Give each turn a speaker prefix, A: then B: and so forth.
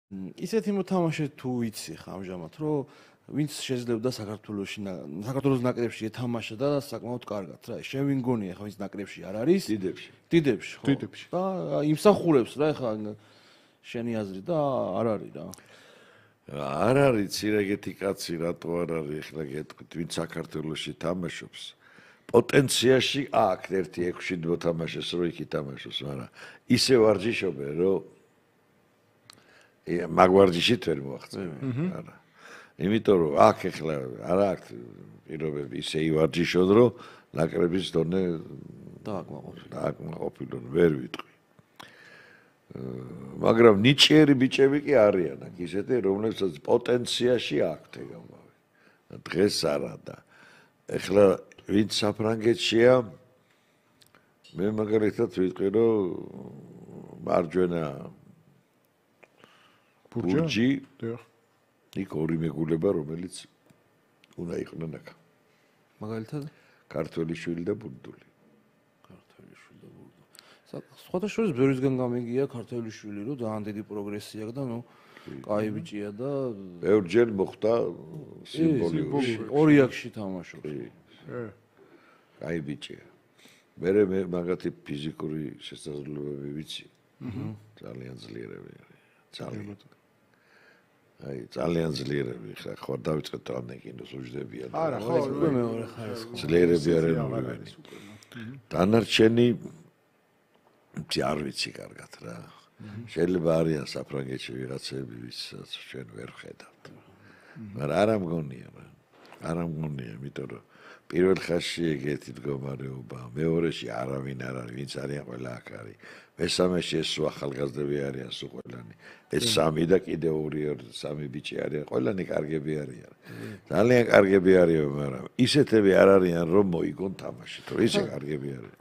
A: ისეთი მოთამაშე თუ იცი ხა ამჟამად, რომ ვინც შეძლებდა საქართველოს ნაკრებში ეთამაშა და საკმაოდ კარგად რა. შენ ვინ გონია ხა ვინც ნაკრებში არ არის? დიდებში, ხო. და იმსახურებს რა ხა შენი აზრი და არ არის რა.
B: არ არის ცირეგეთი კაცი რატო არ არის ახლა გეტყვით ვინც საქართველოში თამაშობს. პოტენციაში აქვს 1-6 მოთამაშეს რო იქ ითამაშოს, მაგრამ ისე ვარჯიშობენ რომ მაგვარჯიშით ვერ მოაღწევენ. არა. იმიტომ რომ აქ ახლა არ აქვს პირობები ისე ივარჯიშონ რომ ნაკრების დონე დააკმაყოფილონ ვერ ვიტყვი. მაგრამ ნიჭიერი ბიჭები კი არიან აქ ისეთი რომლებსაც პოტენციაში აქვთ ეგამავე. დღეს არა და ახლა ვინც საფრანგეთშია მე მაგალითად ვიტყვი რომ მარჯვენა ბურჯი იქ ორი მეგულება რომელიც უნდა იყვნენ აქ.
A: მაგალითად
B: ქართველი შვილი და ბურდული.
A: სხვათა შორის ბევრისგან გამიგია ქართველი შვილი რომ ძალიან დიდი პროგრესი აქვს და ნუ კაი ბიჭია და
B: ბევრჯერ მოხდა სიმბოლიური.
A: ორი აქში თამაშობს.
B: კაი ბიჭია. მე მაგათი ფიზიკური შესაძლებლობები ვიცი. ძალიან ძლიერები არის. ძალიან. აი ძალიან ძლიერები ხა ხო დავიწყეთ რამე კინოს უჯდებიან.
A: არა ხო მეორე ხარისხი.
B: ძლიერები არიან. დანარჩენი არ ვიცი კარგად რა. შეიძლება არიან საფრანგეთში ვიღაცები ვისაც ჩვენ ვერ ხედავთ. მაგრამ არ ამგონია რა. არ ამგონია, იმიტომ რომ პირველ ხაზში ეგეთი მდგომარეობა, მეორეში არავინ არ არის, ვინც არიან ყველა აქ არის. მესამეში ეს ახალგაზრდები არიან სულ ყველანი. ეს სამი და კიდე სამი ბიჭი არიან, ყველანი კარგები არიან. ძალიან კარგები არიან, მაგრამ ისეთები არ არიან რომ მოიგონ თამაში, თუ ისე კარგები არიან.